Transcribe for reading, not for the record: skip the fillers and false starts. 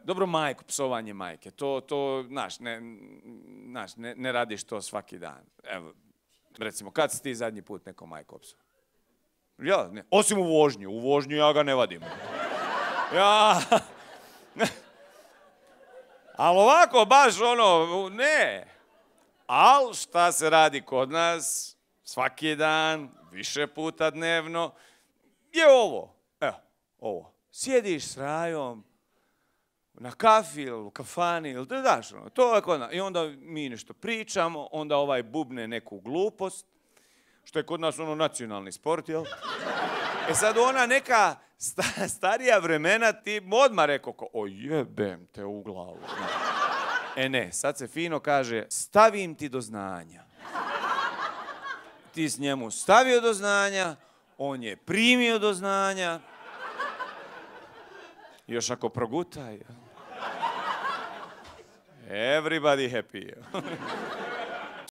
Dobro, majku, psovanje majke, to, znaš, ne radiš to svaki dan. Evo, recimo, kad si ti zadnji put neko majku psao? Ja, ne, osim u vožnju ja ga ne vadim. Ja, ali ovako, baš ono, ne. Ali šta se radi kod nas, svaki dan, više puta dnevno, je ovo, evo, ovo. Sjediš s Rajom, na kafi ili u kafani, ili da daš ono, to je kod nas. I onda mi nešto pričamo, onda ovaj bubne neku glupost, što je kod nas ono nacionalni sport, jel? E sad ona neka starija vremena ti odmah rekao ko, o jebem te u glavu. E ne, sad se fino kaže, stavim ti do znanja. Ti s njemu stavio do znanja, on je primio do znanja. Još ako progutaj. Everybody happy.